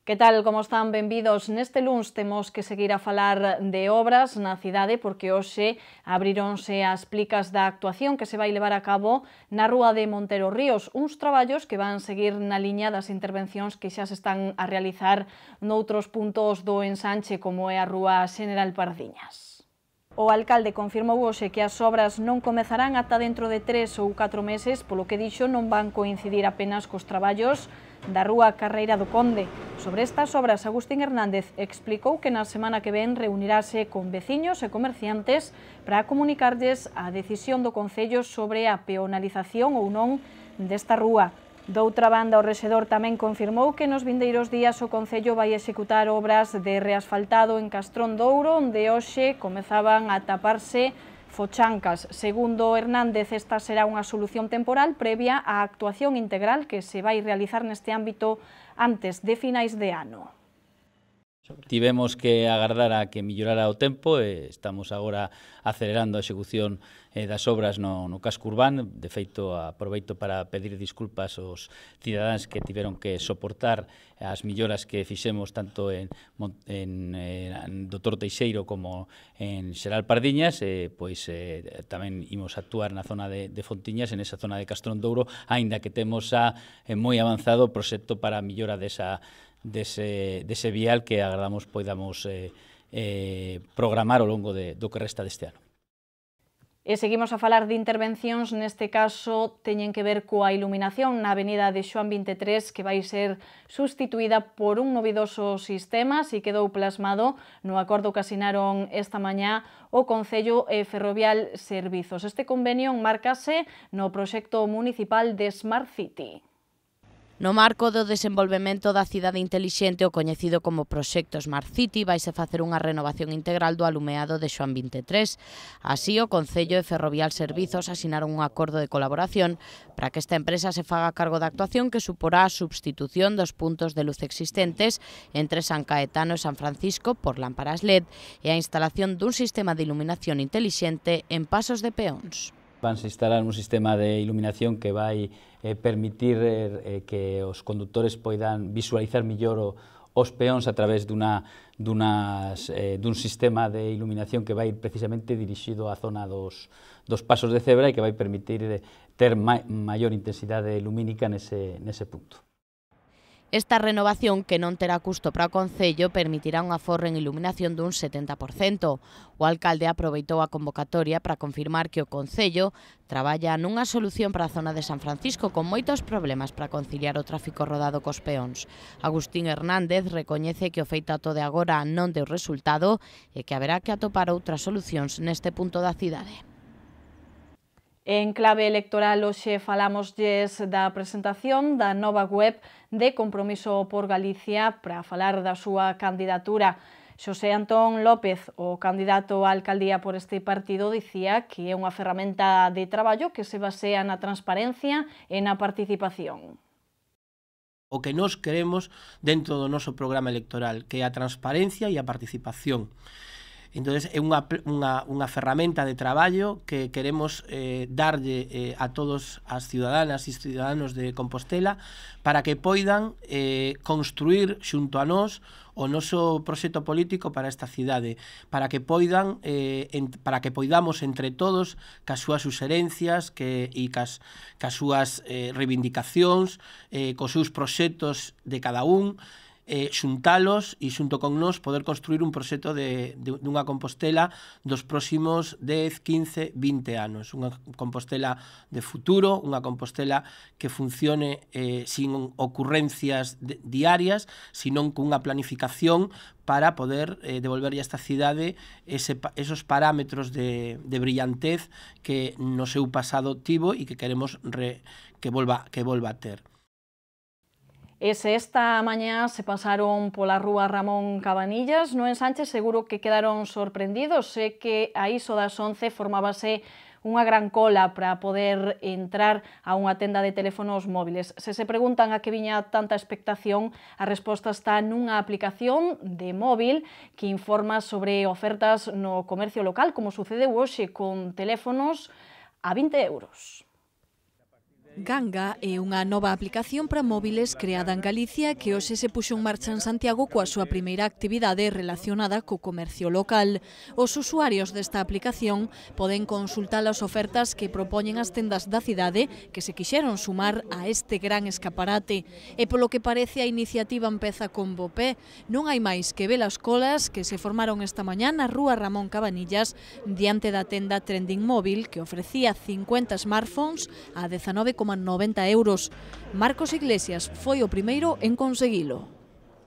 Que tal, como están? Benvidos. Neste luns temos que seguir a falar de obras na cidade porque hoxe abríronse as plicas da actuación que se vai levar a cabo na rúa de Montero Ríos, uns traballos que van seguir na liña das intervencións que xa se están a realizar noutros puntos do ensanche como é a rúa Xeneral Pardiñas. O alcalde confirmou hoxe que as obras non comezarán ata dentro de 3 ou 4 meses, polo que dixo non van coincidir apenas cos traballos da rúa Carreira do Conde. Sobre estas obras, Agustín Hernández explicou que na semana que ven reunirase con veciños e comerciantes para comunicarlles a decisión do Concello sobre a peonalización ou non desta rúa. Doutra banda, o rexedor tamén confirmou que nos vindeiros días o Concello vai executar obras de reasfaltado en Castrón de Ouro, onde hoxe comezaban a taparse fochancas. Segundo Hernández, esta será unha solución temporal previa á actuación integral que se vai realizar neste ámbito antes de finais de ano. Tivemos que agardar a que mellorara o tempo e estamos agora acelerando a execución das obras no casco urbano. De feito, aproveito para pedir disculpas aos cidadáns que tiveron que soportar as melloras que fixemos tanto en Dr. Teixeiro como en Xeral Pardiñas. Tamén imos actuar na zona de Fontiñas, en esa zona de Castrón de Ouro, aínda que temos moi avanzado o proxecto para a mellora dese vial que agardamos podamos programar ao longo do que resta deste ano. E seguimos a falar de intervencións, neste caso teñen que ver coa iluminación na avenida de Xoán 23, que vai ser sustituída por un novidoso sistema, así quedou plasmado no acordo que asinaron esta mañá o Concello e Ferrovial Servizos. Este convenio enmárcase no proxecto municipal de Smart City. No marco do desenvolvemento da cidade intelixente, o coñecido como Proxecto Smart City, vaise facer unha renovación integral do alumeado de Xoán 23. Así, o Concello e Ferrovial Servizos asinaron un acordo de colaboración para que esta empresa se faga cargo da actuación que suporá a substitución dos puntos de luz existentes entre San Caetano e San Francisco por lámparas LED e a instalación dun sistema de iluminación intelixente en pasos de peóns. Vanse instalar un sistema de iluminación que vai permitir que os condutores poidan visualizar mellor os peóns a través dun sistema de iluminación que vai precisamente dirixido á zona dos pasos de cebra e que vai permitir ter maior intensidade lumínica nese punto. Esta renovación, que non terá custo para o Concello, permitirá un aforro en iluminación dun 70%. O alcalde aproveitou a convocatoria para confirmar que o Concello traballa nunha solución para a zona de San Francisco con moitos problemas para conciliar o tráfico rodado cos peóns. Agustín Hernández recoñece que o feito ata de agora non deu resultado e que haberá que atopar outras solucións neste punto da cidade. En clave electoral, hoxe falámoslles da presentación da nova web de Compromiso por Galicia para falar da súa candidatura. Xosé Antón López, o candidato á alcaldía por este partido, dicía que é unha ferramenta de traballo que se basea na transparencia e na participación. O que nós queremos dentro do noso programa electoral, que é a transparencia e a participación. Entón, é unha ferramenta de traballo que queremos darlle a todos as ciudadanas e ciudadanos de Compostela para que poidan construir xunto a nós o noso proxecto político para esta cidade, para que poidamos entre todos cas súas suxerencias e cas súas reivindicacións, cos seus proxectos de cada un, xuntalos e xunto con nós poder construir un proxecto dunha Compostela dos próximos 10, 15, 20 anos. Unha Compostela de futuro, unha Compostela que funcione sin ocurrencias diarias, senón cunha planificación para poder devolverlle a esta cidade esos parámetros de brillantez que no seu pasado tivo e que queremos que volva a ter. E se esta mañá se pasaron pola rúa Ramón Cabanillas, no ensanche seguro que quedaron sorprendidos. Sé que a iso das 11 formábase unha gran cola para poder entrar a unha tenda de teléfonos móviles. Se se preguntan a que viña tanta expectación, a resposta está nunha aplicación de móvil que informa sobre ofertas no comercio local, como sucede hoxe con teléfonos a 20 euros. Ganga é unha nova aplicación para móviles creada en Galicia que hoxe se puxo en marcha en Santiago coa súa primeira actividade relacionada co comercio local. Os usuarios desta aplicación poden consultar as ofertas que propoñen as tendas da cidade que se quixeron sumar a este gran escaparate. E polo que parece a iniciativa empeza con bo pé. Non hai máis que ver as colas que se formaron esta mañá na rúa Ramón Cabanillas diante da tenda Trending Móvil que ofrecía 50 smartphones a 19,90 euros. Marcos Iglesias foi o primeiro en conseguilo.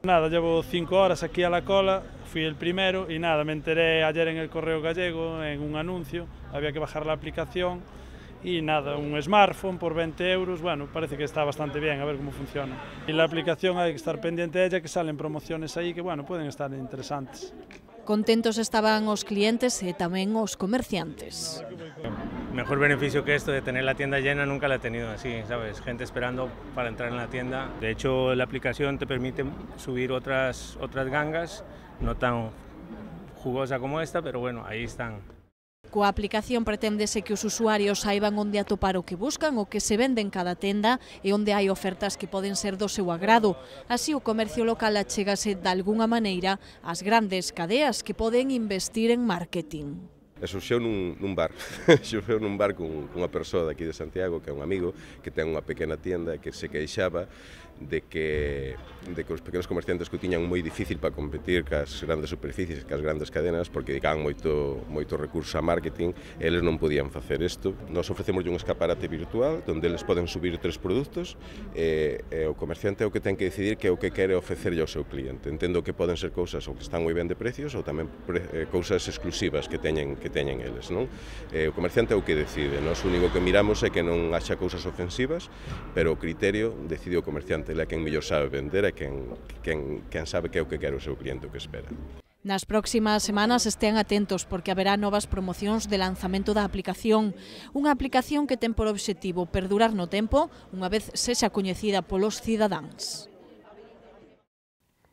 Nada, llevo 5 horas aquí a la cola, fui el primero y nada, me enteré ayer en el Correo Gallego, en un anuncio, había que bajar la aplicación y nada, un smartphone por 20 euros, bueno, parece que está bastante bien, a ver cómo funciona. Y la aplicación hay que estar pendiente de ella, que salen promociones ahí que, bueno, pueden estar interesantes. Contentos estaban os clientes e tamén os comerciantes. Mejor beneficio que esto de tener la tienda llena nunca la he tenido así, ¿sabes? Gente esperando para entrar en la tienda. De hecho, la aplicación te permite subir otras gangas, no tan jugosa como esta, pero bueno, ahí están. Coa aplicación preténdese que os usuarios saiban onde atopar o que buscan, o que se vende en cada tenda e onde hai ofertas que poden ser do seu agrado. Así o comercio local achégase de algunha maneira ás grandes cadeas que poden investir en marketing. E surxeu nun bar, surxeu nun bar con unha persoa daqui de Santiago, que é un amigo, que ten unha pequena tienda que se queixaba de que os pequenos comerciantes que o tiñan moi difícil para competir cas grandes superficies, cas grandes cadenas, porque dedicaban moito recurso a marketing, e eles non podían facer isto. Nos ofrecemos un escaparate virtual, onde eles poden subir 3 produtos, e o comerciante é o que ten que decidir que é o que quere ofrecerlle ao seu cliente. Entendo que poden ser cousas ou que están moi ben de precios, ou tamén cousas exclusivas que teñen eles, non? O comerciante é o que decide, nós o único que miramos é que non haxa cousas ofensivas, pero o criterio decide o comerciante, ele é quen mellor sabe vender, é quen sabe que é o que quere o seu cliente, o que espera. Nas próximas semanas estean atentos porque haberá novas promocións de lanzamento da aplicación. Unha aplicación que ten por obxectivo perdurar no tempo unha vez sexa coñecida polos cidadáns.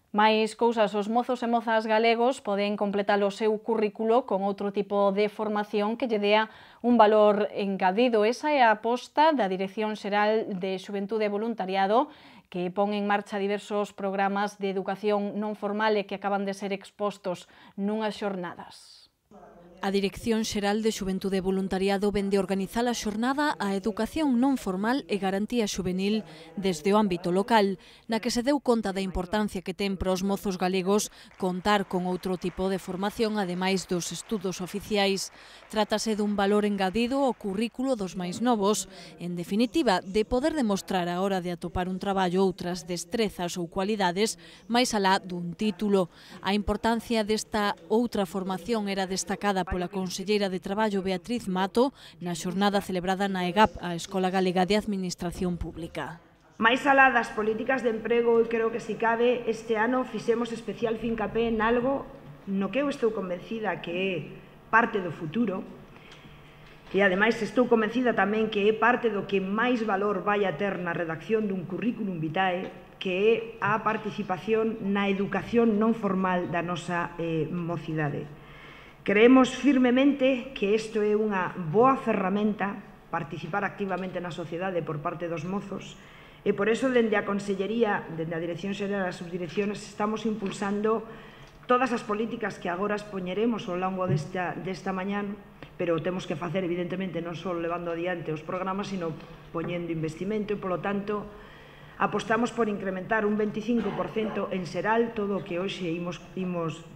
Mais cousas, os mozos e mozas galegos poden completar o seu currículo con outro tipo de formación que lle dea un valor engadido. Esa é a aposta da Dirección Xeral de Xuventude e Voluntariado, que pon en marcha diversos programas de educación non formal e que acaban de ser expostos nunhas xornadas. A Dirección Xeral de Xuventude e Voluntariado vende organizar a xornada a educación non formal e garantía xuvenil desde o ámbito local, na que se deu conta da importancia que ten para os mozos galegos contar con outro tipo de formación ademais dos estudos oficiais. Trátase dun valor engadido ao currículo dos máis novos, en definitiva, de poder demostrar a hora de atopar un traballo outras destrezas ou cualidades máis alá dun título. A importancia desta outra formación era destacada pola conselleira de Traballo Beatriz Mato na xornada celebrada na EGAP, a Escola Galega de Administración Pública. Mais alá das políticas de emprego, e creo que si cabe, este ano fixemos especial fincapé en algo no que eu estou convencida que é parte do futuro, e ademais estou convencida tamén que é parte do que máis valor vai a ter na redacción dun currículum vitae, que é a participación na educación non formal da nosa mocidade. Creemos firmemente que isto é unha boa ferramenta participar activamente na sociedade por parte dos mozos e por eso dende a Consellería, dende a Dirección Xeral das Subdirecciones, estamos impulsando todas as políticas que agora expoñeremos ao longo desta mañán, pero temos que facer evidentemente non só levando adiante os programas, sino poñendo investimento e, polo tanto, apostamos por incrementar un 25% en xeral todo o que hoxe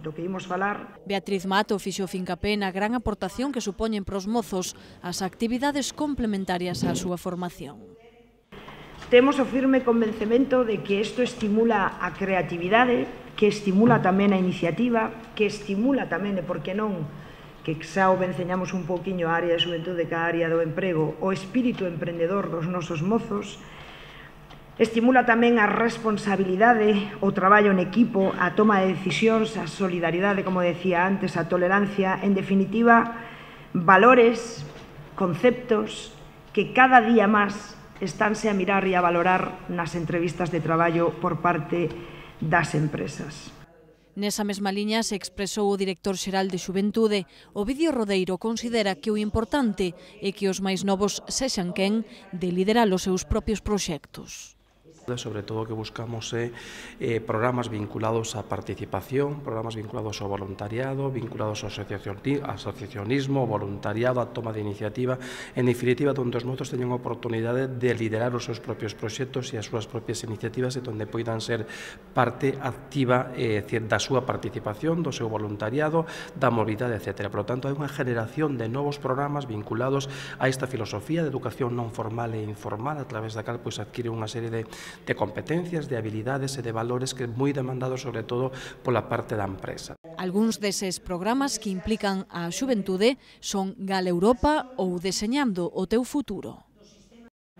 do que imos falar. Beatriz Mato fixo fincapé na gran aportación que supoñen pros mozos as actividades complementarias á súa formación. Temos o firme convencemento de que isto estimula a creatividade, que estimula tamén a iniciativa, que estimula tamén, e por que non, que xa o venceñamos un pouquiño a área de xuventude que a área do emprego, o espírito emprendedor dos nosos mozos. Estimula tamén a responsabilidade, o traballo en equipo, a toma de decisións, a solidaridade, como decía antes, a tolerancia, en definitiva, valores, conceptos que cada día máis estánse a mirar e a valorar nas entrevistas de traballo por parte das empresas. Nesa mesma liña se expresou o director xeral de Xuventude. Ovidio Rodeiro considera que o importante é que os máis novos sexan quen de liderar os seus propios proxectos. Sobre todo o que buscamos é programas vinculados á participación, programas vinculados ao voluntariado, vinculados ao asociacionismo, ao voluntariado, á toma de iniciativa, en definitiva, onde os mozos teñen a oportunidade de liderar os seus propios proxectos e as súas propias iniciativas e onde poidan ser parte activa da súa participación, do seu voluntariado, da mobilidade, etc. Por lo tanto, hai unha generación de novos programas vinculados a esta filosofía de educación non formal e informal, a través da cal adquire unha serie de competencias, de habilidades e de valores que é moi demandado sobre todo pola parte da empresa. Algúns deses programas que implican a xuventude son Gal Europa ou Deseñando o teu futuro.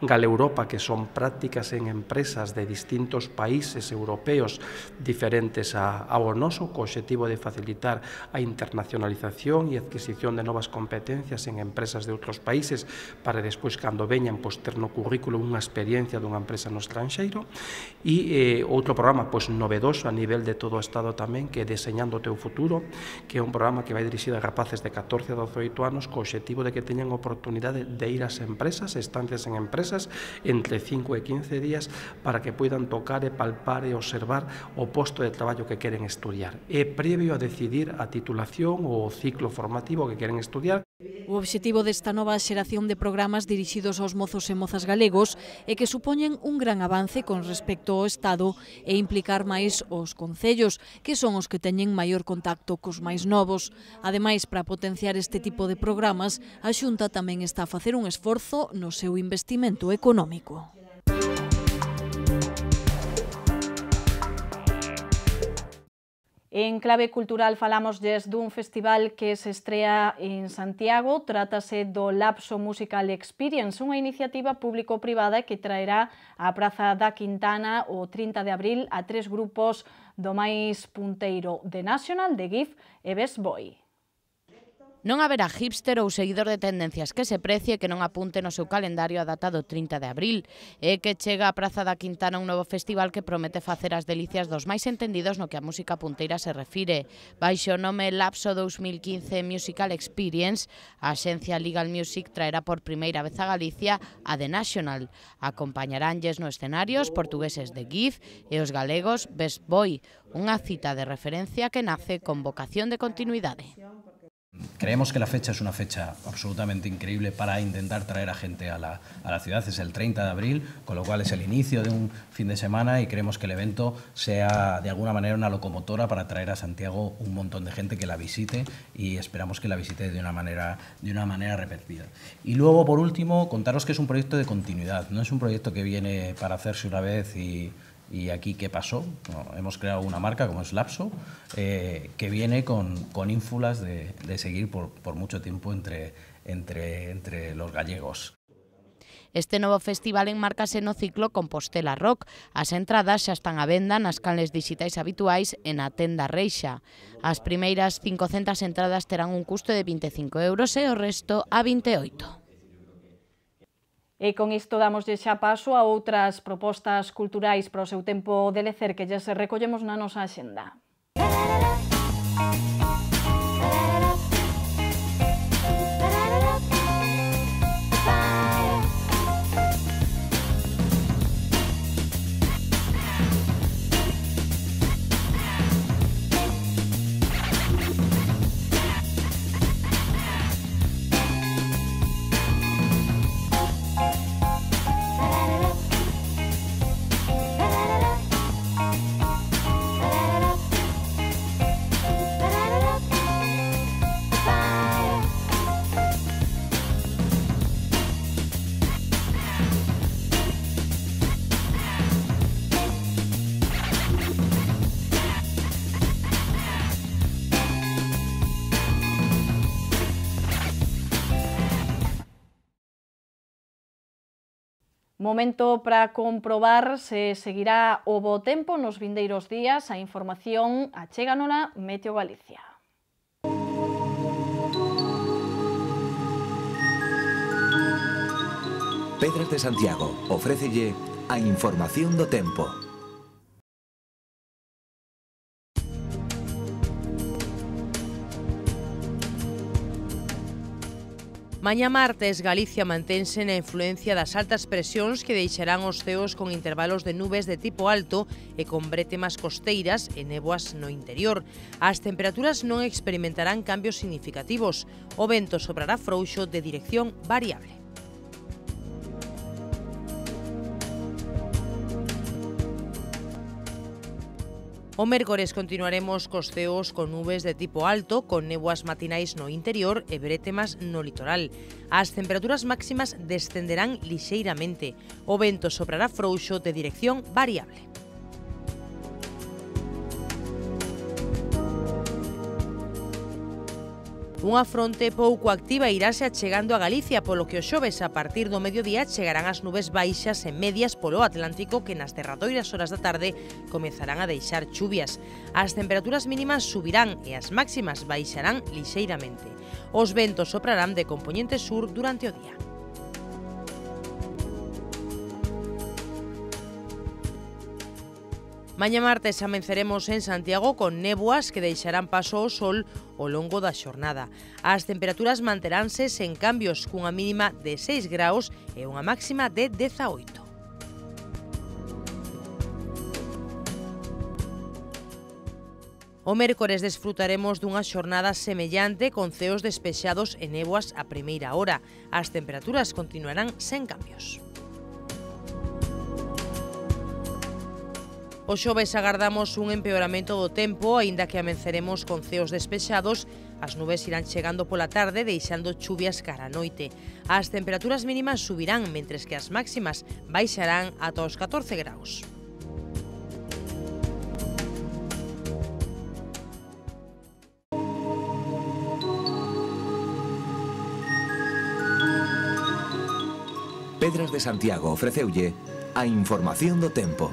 Gal Europa, que son prácticas en empresas de distintos países europeos diferentes ao noso, co obxectivo de facilitar a internacionalización e adquisición de novas competencias en empresas de outros países para despois, cando veñan, ter no currículo unha experiencia dunha empresa no estranxeiro. E outro programa novedoso a nivel de todo o Estado tamén, que é Deseñando o teu futuro, que é un programa que vai dirixido a rapaces de 14 a 18 anos co obxectivo de que teñan oportunidade de ir ás empresas, estancias en empresas, entre 5 e 15 días para que poidan tocar e palpar e observar o posto de traballo que queren estudiar. É previo a decidir a titulación ou o ciclo formativo que queren estudiar. O obxectivo desta nova xeración de programas dirixidos aos mozos e mozas galegos é que supoñen un gran avance con respecto ao Estado e implicar máis os concellos, que son os que teñen maior contacto cos máis novos. Ademais, para potenciar este tipo de programas, a Xunta tamén está a facer un esforzo no seu investimento económico. En clave cultural falámosles dun festival que se estrea en Santiago. Trátase do Lapso Musical Experience, unha iniciativa público-privada que traerá á Praza da Quintana o 30 de abril a 3 grupos do máis punteiro de National, The GIF e Best Boy. Non haberá hipster ou seguidor de tendencias que se precie que non apunte no seu calendario a data do 30 de abril. É que chega á Praza da Quintana un novo festival que promete facer as delicias dos máis entendidos no que a música punteira se refire. Baixo o nome Lapso 2015 Musical Experience, a axencia Legal Music traerá por primeira vez a Galicia a The National. Acompañaránlles no escenario os portugueses de GIF e os galegos Best Boy, unha cita de referencia que nace con vocación de continuidade. Creemos que la fecha es una fecha absolutamente increíble para intentar traer a gente a la ciudad. Es el 30 de abril, con lo cual es el inicio de un fin de semana y creemos que el evento sea de alguna manera una locomotora para traer a Santiago un montón de gente que la visite y esperamos que la visite de una manera repetida. Y luego, por último, contaros que es un proyecto de continuidad. No es un proyecto que viene para hacerse una vez y aquí qué pasó. No, hemos creado una marca como es Lapso, que viene con ínfulas de seguir por mucho tiempo entre los gallegos. Este novo festival enmárcase no ciclo Compostela Rock. As entradas xa están á venda nas canles digitais habituais e na tenda Reixa. As primeiras 500 entradas terán un custo de 25 euros e o resto a 28. E con isto damoslle xa paso a outras propostas culturais para o seu tempo de lecer que xa se recollemos na nosa axenda. Momento para comprobar se seguirá o bo tempo nos vindeiros días. A información achéganola Meteo Galicia. Pedras de Santiago ofrécelle a información do tempo. Mañá martes, Galicia mantense na influencia das altas presións que deixarán os ceos con intervalos de nubes de tipo alto e con brétemas costeiras e néboas no interior. As temperaturas non experimentarán cambios significativos. O vento soprará frouxo de dirección variable. O mércores continuaremos cos ceos con nubes de tipo alto, con néboas matinais no interior e brétemas no litoral. As temperaturas máximas descenderán lixeiramente. O vento soprará frouxo de dirección variable. Unha fronte pouco activa irase achegando a Galicia, polo que o xoves a partir do mediodía chegarán as nubes baixas e medias polo Atlántico que nas derradoiras horas da tarde comezarán a deixar chuvias. As temperaturas mínimas subirán e as máximas baixarán lixeiramente. Os ventos soprarán de compoñente sur durante o día. Mañá martes amenceremos en Santiago con néboas que deixarán paso ao sol ao longo da xornada. As temperaturas manteránse sen cambios, cunha mínima de 6 graus e unha máxima de 18. O mércores desfrutaremos dunha xornada semellante con ceos despexados e néboas a primeira hora. As temperaturas continuarán sen cambios. O xoves agardamos un empeoramento do tempo, aínda que amenceremos con ceos despexados, as nubes irán chegando pola tarde deixando chuvias cara a noite. As temperaturas mínimas subirán, mentres que as máximas baixarán ata os 14 graus. Pedras de Santiago ofreceulle a información do tempo.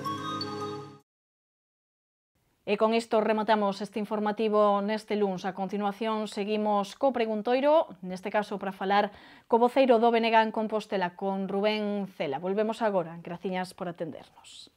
E con isto rematamos este informativo neste luns. A continuación seguimos co preguntoiro, neste caso para falar co voceiro do BNG en Compostela, con Rubén Cela. Volvemos agora. Graciñas por atendernos.